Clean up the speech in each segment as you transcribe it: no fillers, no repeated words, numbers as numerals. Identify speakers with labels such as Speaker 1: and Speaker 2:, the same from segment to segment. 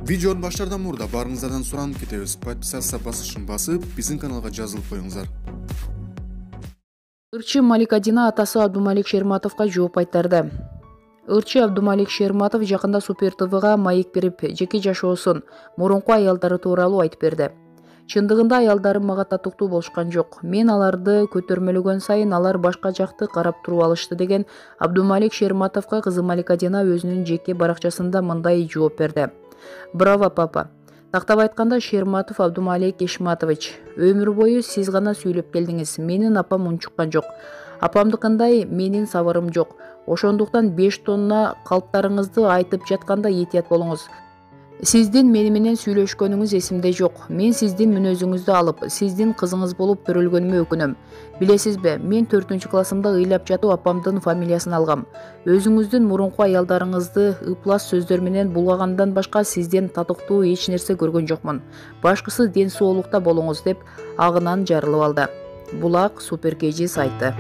Speaker 1: Видеонун баштаардан мурда баарыңыздардан суранып кетебиз. Подписаться басышын басып, биздин каналга жазылып коюңуздар.
Speaker 2: Ырчы Маликадина атасы Абдумалик Шерматовго жооп кайтарды. Ырчы Абдумалик Шерматов жакында Супер ТВга маек берип, жеке жашоосун, мурунку аялдары тууралуу айтып берди. Чындыгында аялдарым мага татыктуу болушкан жок. Мен аларды көтөрмөлөгөн сайын алар башка жакты карап туруп алышты деген Абдумалик Шерматовго кызы Маликадина өзүнүн жеке баракчасында мындай жооп берди. Браво, папа. Тактап айтканда, Шерматов Абдумалик Ишматович, өмүр бою сиз гана сүйлөп келдиңиз. Менин апам унчуккан жок. Апамдыкындай менин сабырым жок. Ошондуктан 5 тонна калптарыңызды айтып жатканда этият болуңуз. Сиздин мени менен сүйлөшкөнүңүз эсимде жок. Мен сиздин мүнөзүңүздү алып, сиздин кызыңыз болуп төрөлгөнүмө өкүнөм. Билесизби, мен 4-классымда ыйлап жатып апамдын фамилиясын алгам. Өзүңүздүн мурунку аялдарыңызды ыплас сөздөр менен булгагандан башка сизден татыктуу эч нерсе көргөн жокмун. Башкысы ден соолукта болуңуз деп агынан жарылып алды. Булак Супер KG сайты.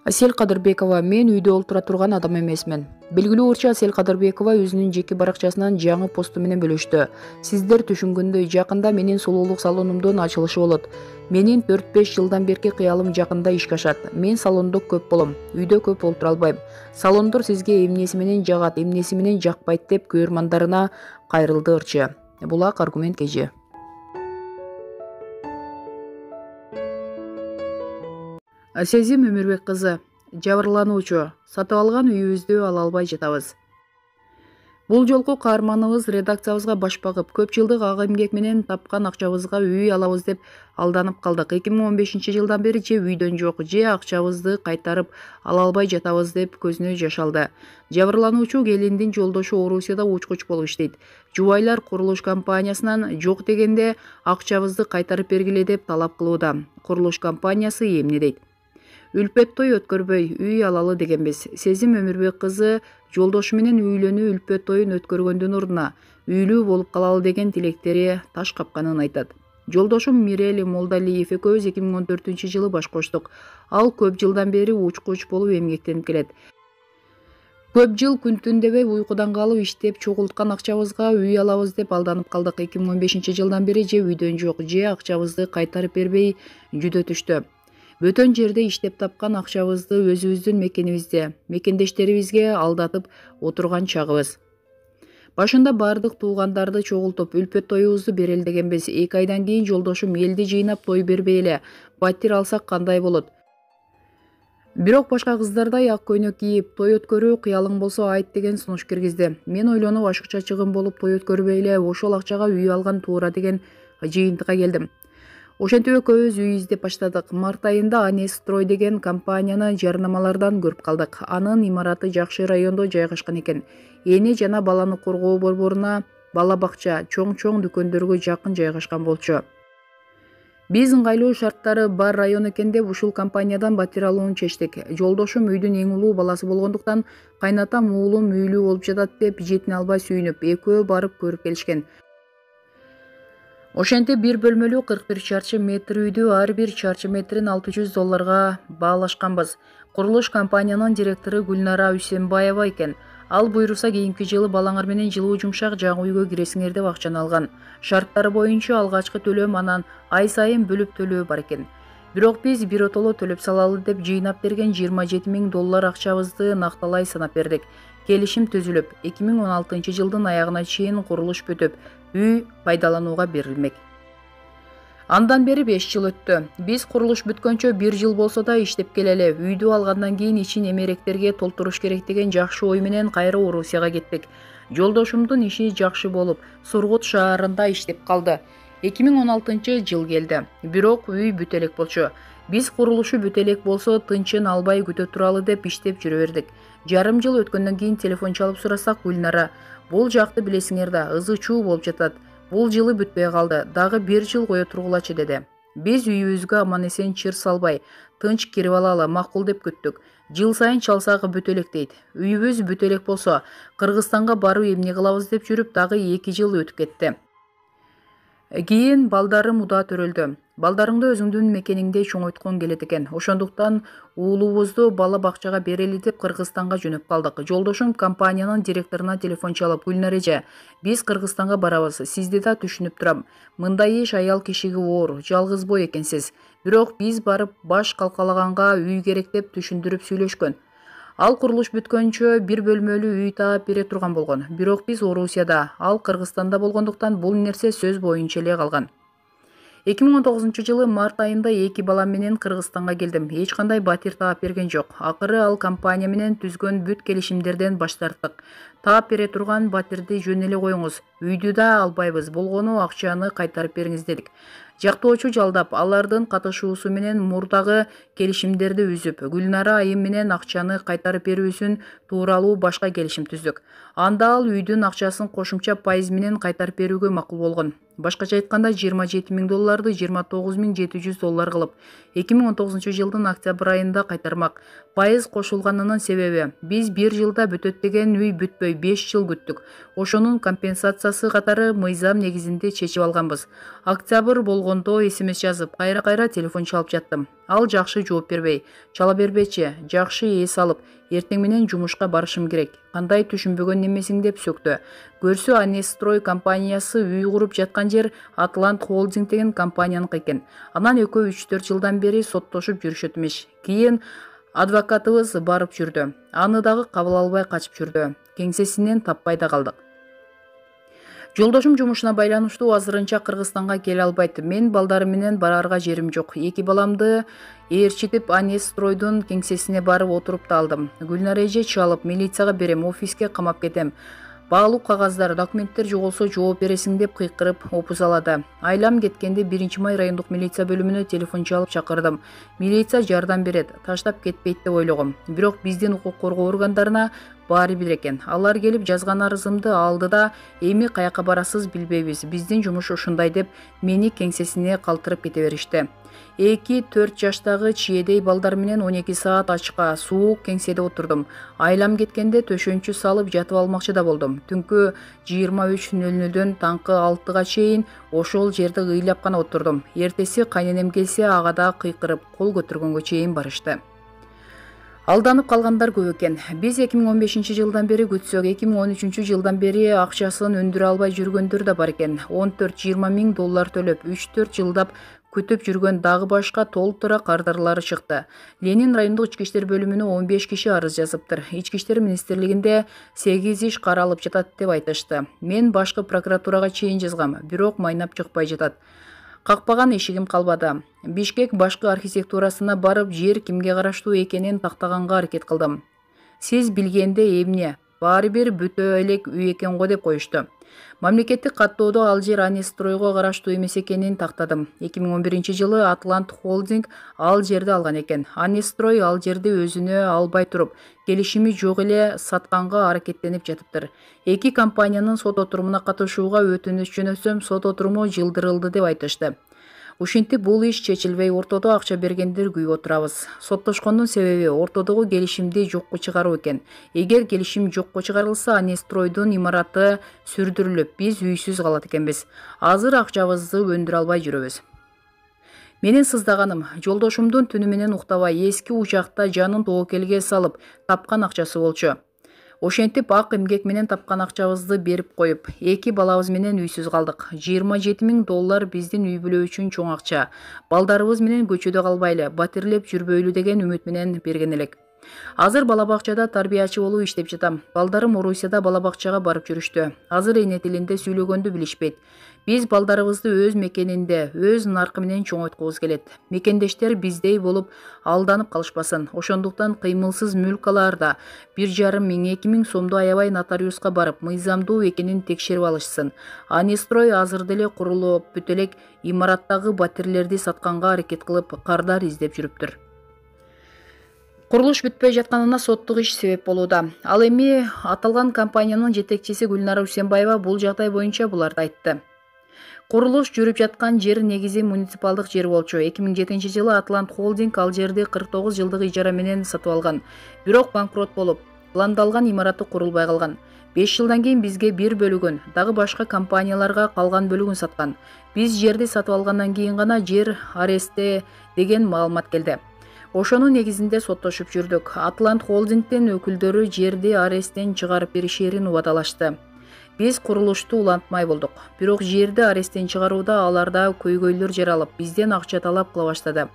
Speaker 2: Асель Кадырбекова, мен үйдө олтура турган адам эмесмин. Белгилүү ырчы Асель Кадырбекова өзүнүн жеке баракчасынан жаңы посту менен бөлүштү. Сиздер түшүнгөндөй, жакында менин сулуулук салонумдун ачылышы болот. Менин 4-5 жылдан берки кыялым жакында ишке ашат. Мен салондо көп болом, үйдө көп олтура албайм. Салондор сизге эмнеси менен жагат, эмнеси менен жакпайт деп көрөрмандарына кайрылды ырчы. Булак Аргумент KG. Сезим Өмүрбек кызы, жабырлануучу, сатып алган үйүбүздү ала албай жатабыз. Бул жолку каарманыбыз редакциябызга баш багып, көп жылдык ак эмгек менен тапкан акчабызга үй алабыз деп алданып калдык. 2015-жылдан бери же үйдөн жок, же акчабызды кайтарып ала албай жатабыз деп көзүнө жаш алды. Жабырлануучу келиндин жолдошу Орусияда учкуч болуп иштейт. Жубайлар курулуш компаниясынан жок дегенде акчабызды кайтарып бергиле деп талап кылууда. Курулуш компаниясы эмне дейт? Үлпөт той өткөрбөй үй алалы дегенбиз. Сезим Өмүрбек кызы жолдошу менен үйлөнүү үлпөт тоюн өткөргөндүн ордуна үйлүү болуп калалы деген тилектери таш капканын айтат. Жолдошум Мирели Молдалиев экөөбүз 2014-жылы баш коштук. Ал көп жылдан бери учкуч болуп эмгектенип келет. Көп жыл күн түн дебей уйкудан калып иштеп чогулткан акчабызга үй алабыз деп алданып калдык. 2015-жылдан бери же үйдөн жок, же акчабызды кайтарып бербей жүдөтүштү. Бөтөн жерде иштеп тапкан акчабызды өзүбүздүн мекенибизде, мекендештерибизге алдатып отурган чагыбыз. Башында бардык туугандарды чогултуп, үлпөт тоюбузду берели дегенбиз. 2 айдан кийин жолдошум элди жыйнап той бербей эле, батир алсак кандай болот? Бирок башка кыздардай ак көйнөк кийип, той өткөрүү кыялың болсо айт деген сунуш киргизди. Мен ойлонуп ашыкча чыгым болуп той өткөрбөй эле ошол акчага үй алган туура деген жыйынтыкка келдим. Ошентип экөөбүз үй издеп баштадык. Март айында Анес Строй деген компанияны жарнамалардан көрүп калдык. Анын имараты жакшы райондо жайгашкан экен. Эне жана баланы коргоо борборуна, бала бакча, чоң дүкөндөргө жакын жайгашкан болчу. Биз ыңгайлуу шарттары бар район экен деп ушул компаниядан батир алууну чечтик. Жолдошум үйдүн эң улуу баласы болгондуктан кайнатам уулум үйлүү болуп жатат деп жетине албай сүйүнүп, экөө барып көрүп келишкен. Ошентип 1 бөлмөлүү 41 чарчы метр үйдү ар бир чарчы метрин $600 баалашканбыз. Курулуш компаниянын директору Гүлнара Үсенбаева экен. Ал буйруса кийинки жылы балаңар менен жылуу жумшак жаңы үйгө киресиңер деп акчаны алган. Шарттары боюнча алгачкы төлөм анан ай сайын бөлүп төлөө бар экен. Бирок биз биротоло төлөп салалы деп жыйнап берген $27,000 акчабызды накталай санап бердик. Келишим түзүлүп, 2016-жылдын аягына чейин курулуш бүтүп, үй пайдаланууга берилмек. Андан бери 5 жыл өттү. Биз курулуш бүткөнчө 1 жыл болсо да иштеп келели. Үйдү алгандан кийин ичин эмеректерге толтуруш керек деген жакшы ой менен кайра Орусияга кеттик. Жолдошумдун иши жакшы болуп, Сургут шаарында иштеп калды. 2016-жыл келди. Бирок үй бүтө элек болчу. Биз курулушу бүтө элек болсо тынчын албай күтө туралы деп иштеп жүрө бердик. Жарым жыл өткөндөн кийин телефон чалып сурасак, Гүлнара, бул жакты билесиңер да, ызы чуу болуп жатат. Бул жылы бүтпөй калды, дагы 1 жыл кое тургулачы деди. Биз үйүбүзгө аман эсен чыр салбай, тынч кирип алалы, макул деп күттүк. Жыл сайын чалсагы бүтө элек дейт. Үйүбүз бүтө элек болсо, Кыргызстанга барып эмне кылабыз деп жүрүп, дагы 2 жыл өтүп кетти. Кийин балдарым удаа төрөлдү. Балдарыңды өзүңдүн мекениңде чоңойткоң келет экен. Ошондуктан уулубузду бала бакчага берели деп Кыргызстанга жөнөп калдык. Жолдошум компаниянын директоруна телефон чалып, Гүлнар эже, биз Кыргызстанга барабыз. Сизди да түшүнүп турам. Мындай иш аял кишиге оор, жалгыз бой экенсиз. Бирок биз барып баш калкалаганга үй керек деп түшүндүрүп сүйлөшкөн. Ал курулуш бүткөнчө бир бөлмөлүү үй таап бере турган болгон. Бирок биз Орусияда, ал Кыргызстанда болгондуктан бул нерсе сөз боюнча эле калган. 2019 март айында 2 балам менен Кыргызстанга келдим. Эч кандай батир таап берген жок. Акыры ал компания менен түзгөн бүт келишимдерден баш тарттык. Таап бере турган батирди жөн эле коюңуз. Үйдү да албайбыз. Болгону акчаны кайтарып бериңиз дедик. Жактоочу жалдап, алардын катышуусу менен мурдагы келишимдерди үзүп, Гүлнара айым менен акчаны кайтарып берүүсүн тууралуу башка келишим түздүк. Анда ал үйдүн акчасын кошумча пайыз менен кайтарып берүүгө макул болгон. Башкача айтканда $27,000 $29,700 кылып, 2019 жылдын октябрь айында кайтармак. Пайыз кошулганынын себеби биз 1 жылда бүтөт деген үй бүтпөй 5 жыл күттүк. Ошонун компенсациясы катары мыйзам негизинде чечип алганбыз. Октябрь болгондо эсемес жазып, кайра телефон чалып жаттым. Ал жакшы жооп бербей, чала бербечи, жакшы эс алып, эртең менен жумушка барышым керек. Кандай түшүнбөгөн немесиң деп сөктү. Көрсө Анестрой компаниясы үй куруп жаткан жер Атлант Холдинг деген компанияныкы экен. Анан экөө 3-4 жылдан бери соттошуп жүрүшөт эмеш. Кийин адвокатыбыз барып жүрдү. Аны дагы кабыл албай качып жүрдү. Кеңсесинен таппай да калдык. Жолдошум жумушуна байланыштуу азырынча Кыргызстанга келе албайт. Мен балдарым менен барарга жерим жок. 2 баламды ээрчитип Анестройдун кеңсесине барып отуруп да алдым. Гүлнар эже чалып, милицияга берем, офиске камап кетем. Баалуу кагаздар, документтер жоголсо жооп бересиң деп кыйкырып опузалады. Айлам кеткенде 1-май райондук милиция бөлүмүнө телефон чалып чакырдым. Милиция жардам берет, таштап кетпейт деп ойлогом. Бирок биздин укук коргоо органдарына баары бир экен. Алар келип жазган арызымды алды да, эми каяка барасыз билбейбиз. Биздин жумуш ушундай деп мени кеңсесине калтырып кете беришти. 2-4 жаштагы чиедей балдар менен 12 саат ачка, суук кеңседе отурдум. Айлам кеткенде төшөнчү салып жатып алмакчы да болдум. Түнкү 23:00дөн таңкы 6-га чейин ошол жерде ыйлап гана отурдум. Эртеси кайненем келсе, ага да кыйкырып, кол көтөргөнгө чейин барышты. Алданып калгандар көп экен. Биз 2015 жылдан бери күтсөк, 2013 жылдан бери акчасын өндүрө албай жүргөндөр да бар экен. $14-20 миң төлөп, 3-4 жылдап күтүп жүргөн дагы башка толтура кардарлары чыкты. Ленин райондук ички иштер бөлүмүнө 15 киши арыз жазыптыр. Ички иштер министрлигинде 8 иш каралып жатат деп айтышты. Мен башкы прокуратурага чейин жазгам, бирок майнап чыкпай жатат. Какпаган эшигим калбады. Бишкек башкы архитектурасына барып, жер кимге караштуу экенин тактаганга аракет кылдым. Сиз билгенде эмне? Баары бир бүтө элек үй экен го деп коюшту. Мамлекеттик каттоодо ал жер Анестройго караштуу эмес экенин тактадым. 2011 жылы Атлант Холдинг ал жерди алган экен. Анестрой ал жерди өзүнө албай туруп, келишими жок эле сатканга аракеттенип жатыптыр. 2 компаниянын сот отурумуна катышууга өтүнүч жөнөтсөм, сот отуруму жылдырылды деп айтышты. Ушинтип бул иш чечилбей, ортодо акча бергендер күйүп отурабыз. Соттошкондун себеби ортодогу келишимди жокко чыгаруу экен. Эгер келишим жокко чыгарылса, Анестройдун имараты сүрдүрүлүп, биз үйсүз калат экенбиз. Азыр акчабызды өндүрө албай жүрөбүз. Менин сыздаганым, жолдошумдун түнү менен уктабай, эски учакта жанын тобокелге салып, тапкан акчасы болчу. Ошентип ак эмгек менен тапкан акчабызды берип коюп, 2 балабыз менен үйсүз калдык. $27 миң биздин үй бүлө үчүн чоң акча. Балдарыбыз менен көчөдө калбайлы, батирлеп жүрбөйлү деген үмүт менен берген элек. Азыр бала бакчада тарбиячы болуп иштеп жатам. Балдарым Орусияда бала бакчага барып жүрүштү. Азыр эне тилинде сүйлөгөндү билишпейт. Биз балдарыбызды өз мекенинде, өз наркы менен чоңойткубуз келет. Мекендештер биздей болуп алданып калышпасын. Ошондуктан кыймылсыз мүлк алаарда 1,5 миң, 2 миң сомду аябай нотариуска барып, мыйзамдуу экенин текшерип алышсын. Анестрой азыр деле курулуп бүт элек имараттагы батирлерди сатканга аракет кылып, кардар издеп жүрүптүр. Курулуш бүтпөй жатканына соттук иш себеп болууда. Ал эми аталган компаниянын жетекчиси Гүлнара Усенбаева бул жагдай боюнча буларды айтты. Курулуш жүрүп жаткан жер негизи муниципалдык жер болчу. 2007 жылы Атлант Холдинг ал жерди 49 жылдык ижара менен сатып алган. Бирок банкрот болуп, пландалган имараты курулбай калган. 5 жылдан кийин бизге бир бөлүгүн, дагы башка компанияларга калган бөлүгүн саткан. Биз жерди сатып алгандан кийин гана жер арестте деген маалымат келди. Ошонун негизинде соттошуп жүрдүк. Атлант холдингдин өкүлдөрү жерди аресттен чыгарып беришерин убадалашты. Биз курулушту улантмай болдук. Бирок жерди аресттен чыгарууда аларда көйгөйлөр жаралып, бизден акча талап кыла баштады.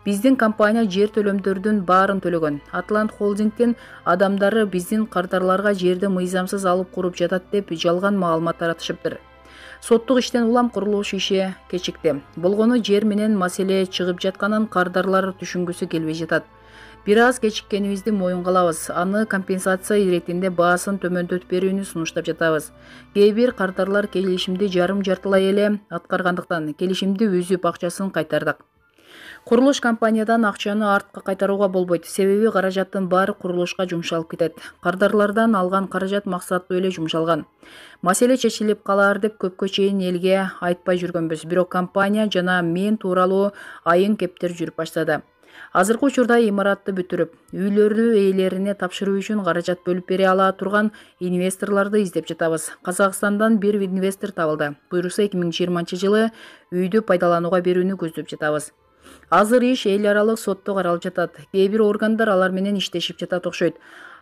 Speaker 2: Биздин компания жер төлөмдөрдүн баарын төлөгөн. Атлант холдингдин адамдары биздин кардарларга жерди мыйзамсыз алып куруп жатат деп жалган маалымат таратышыптыр. Соттук иштен улам курулуш иши кечикти. Болгону жер менен маселе чыгып жатканын кардарлар түшүнгүсү келбей жатат. Бир аз кечиккенибизди моюнга алабыз. Аны компенсация иретинде баасын төмөндөтүп берүүнү сунуштап жатабыз. Кээ бир кардарлар келишимди жарым-жартылай эле аткаргандыктан келишимди үзүп акчасын кайтардык. Курулуш компаниядан акчаны артка кайтарууга болбойт. Себеби каражаттын баары курулушка жумшалып кетет. Кардарлардан алган каражат максаттуу эле жумшалган. Маселе чечилип калаар деп көпкө чейин элге айтпай жүргөнбүз. Бирок компания жана мен тууралуу айын кептер жүрүп баштады. Азыркы учурда имаратты бүтүрүп, үйлөрдү ээлерине тапшыруу үчүн каражат бөлүп бере ала турган инвесторлорду издеп жатабыз. Казакстандан бир инвестор табылды. Буюрса 2020-жылы үйдү пайдаланууга берүүнү көздөп жатабыз. Азыр иш эл аралык сотто каралып жатат. Кээ бир органдар алар менен иштешип жатат окшойт.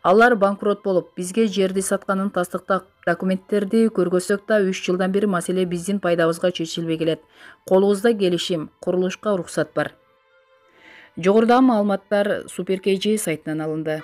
Speaker 2: Алар банкрот болуп, бизге жерди сатканын тастыктап документтерди көргөзсөк да 3 жылдан бери маселе биздин пайдабызга чечилбей келет. Колубузда келишим, курулушка уруксат бар. Жогорудагы маалыматтар Super KG сайтынан алынды.